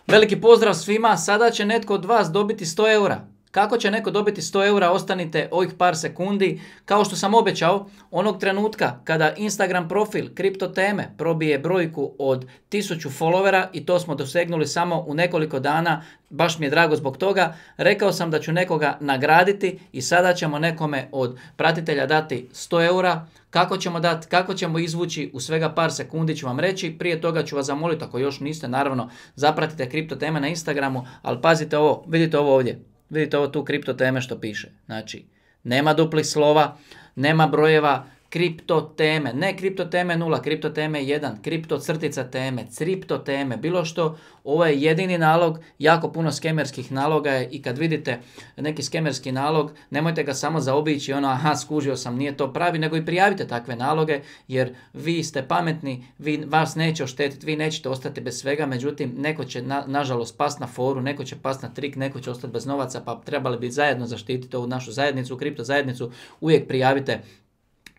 Veliki pozdrav svima, sada će netko od vas dobiti 100 eura. Kako će neko dobiti 100 eura, ostanite ovih par sekundi. Kao što sam obećao, onog trenutka kada Instagram profil Kripto teme probije brojku od 1000 followera, i to smo dosegnuli samo u nekoliko dana, baš mi je drago zbog toga, rekao sam da ću nekoga nagraditi i sada ćemo nekome od pratitelja dati 100 eura. Kako ćemo dati, kako ćemo izvući, u svega par sekundi ću vam reći. Prije toga ću vas zamoliti, ako još niste, naravno, zapratite Kripto teme na Instagramu, ali pazite ovo, vidite ovo ovdje. Vidite ovo tu Kripto teme što piše. Znači, nema duplih slova, nema brojeva, Kripto teme, ne Kripto teme 0, Kripto teme 1, Kripto crtica teme, Cripto teme, bilo što. Ovo je jedini nalog, jako puno skemerskih naloga je, i kad vidite neki skemerski nalog, nemojte ga samo zaobići, aha, skužio sam, nije to pravi, nego i prijavite takve naloge, jer vi ste pametni, vas neće oštetiti, vi nećete ostati bez svega, međutim, neko će nažalost past na foru, neko će past na trik, neko će ostati bez novaca, pa trebali bi zajedno zaštititi ovu našu zajednicu, kripto zajednicu. Uvijek prijavite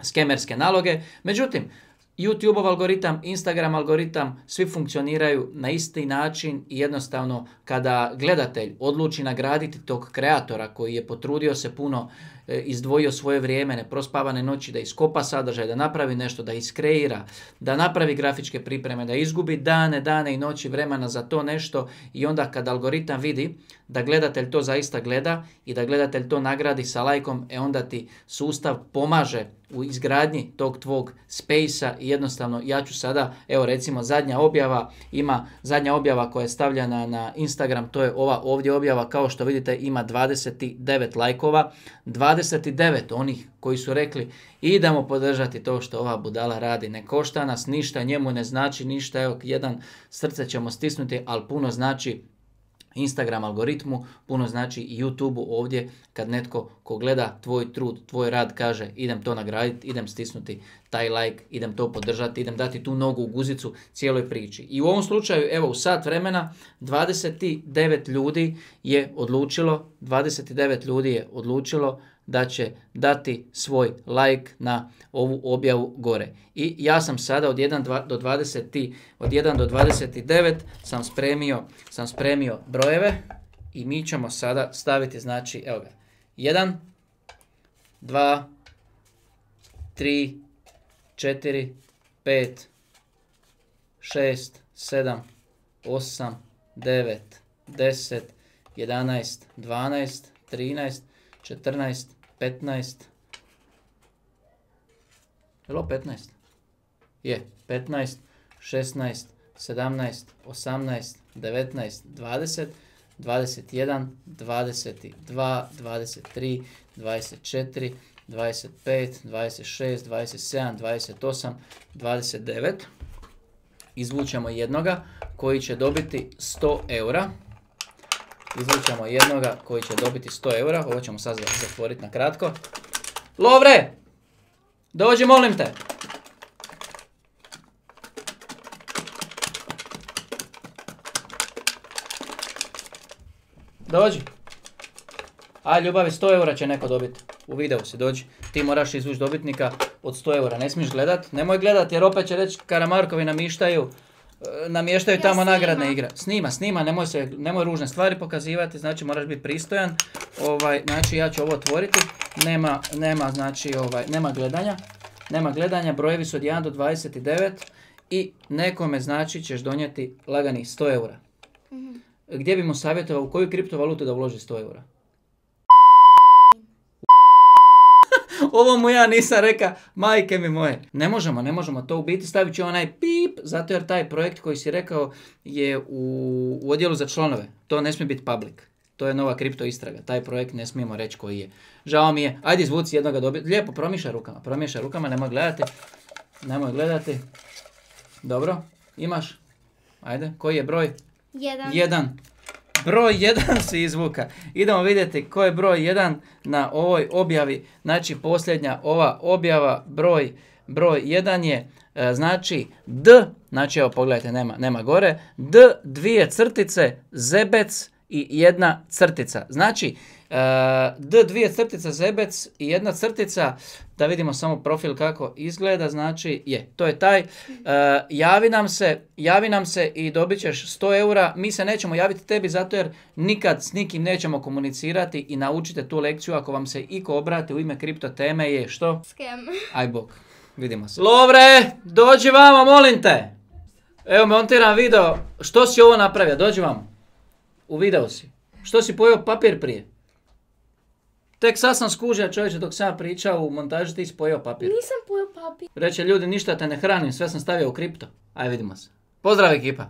skemerske naloge. Međutim, YouTube algoritam, Instagram algoritam, svi funkcioniraju na isti način i jednostavno kada gledatelj odluči nagraditi tog kreatora koji je potrudio se puno, izdvojio svoje vrijeme, neprospavane noći da iskopa sadržaj, da napravi nešto, da iskreira, da napravi grafičke pripreme, da izgubi dane i noći vremena za to nešto, i onda kad algoritam vidi da gledatelj to zaista gleda i da gledatelj to nagradi sa lajkom, onda ti sustav pomaže u izgradnji tog tvog space-a i jednostavno ja ću sada, evo recimo zadnja objava koja je stavljena na Instagram, to je ova ovdje objava, kao što vidite ima 29 lajkova, 29 onih koji su rekli idemo podržati to što ova budala radi, ne košta nas ništa, njemu ne znači ništa, evo jedan srce ćemo stisnuti, ali puno znači Instagram algoritmu, puno znači i YouTubeu ovdje kad netko ko gleda tvoj trud, tvoj rad kaže idem to nagraditi, idem stisnuti taj like, idem to podržati, idem dati tu nogu u guzicu cijeloj priči. I u ovom slučaju, evo u sat vremena, 29 ljudi je odlučilo da će dati svoj like na ovu objavu gore. I ja sam sada od 1 do 29 sam spremio brojeve i mi ćemo sada staviti, znači, evo ga, 1, 2, 3, 4, 5, 6, 7, 8, 9, 10, 11, 12, 13, 14, 15, Jelo 15? Je, 15, 16, 17, 18, 19, 20, 21, 22, 23, 24, 25, 26, 27, 28, 29. Izvučemo jednoga koji će dobiti 100 eura. Ovo ćemo sad zatvoriti na kratko. Lovre! Dođi, molim te! Dođi. Aj, ljubavi, 100 eura će neko dobiti. U videu si, dođi. Ti moraš izvući dobitnika od 100 eura. Ne smiješ gledat. Nemoj gledat jer opet će reći Karamarkovi namještaju tamo nagradne igre. Snima, nemoj ružne stvari pokazivati, znači moraš biti pristojan. Znači ja ću ovo otvoriti. Nema gledanja, brojevi su od 1 do 29 i nekome znači ćeš donijeti laganih 100 eura. Gdje bi mu savjetovao, u koju kriptovalutu da uloži 100 eura? Ovo mu ja nisam reka, majke mi moje. Ne možemo to u biti, stavit ću onaj pip, zato jer taj projekt koji si rekao je u odjelu za članove. To ne smije biti public. To je nova kripto istraga. Taj projekt ne smijemo reći koji je. Žao mi je. Ajde izvuci jednoga dobiti. Lijepo, promišaj rukama, nemoj gledati. Dobro, imaš? Ajde, koji je broj? 1. Broj 1 si izvuka. Idemo vidjeti ko je broj 1 na ovoj objavi. Znači posljednja ova objava, broj 1 je, znači D, znači evo pogledajte, nema gore, D, 2 crtice, zebec i 1 crtica. Znači dvije crtice zebec i jedna crtica, da vidimo samo profil kako izgleda, znači to je taj. Javi nam se i dobit ćeš 100 eura. Mi se nećemo javiti tebi zato jer nikad s nikim nećemo komunicirati i naučite tu lekciju ako vam se iko obrati u ime kripto teme je što? Scam. Aj bok, vidimo se. Lovre, dođi vamo, molim te. Evo montiram video, što si ovo napravio, dođi vamo. U videu si. Što si pojeo papir prije? Tek sad sam skužio, čovječe, dok sam ja pričao u montaži, ti si pojeo papir. Nisam pojeo papir. Reče, ljudi, ništa te ne hranim, sve sam stavio u kripto. Aj, vidimo se. Pozdrav, ekipa.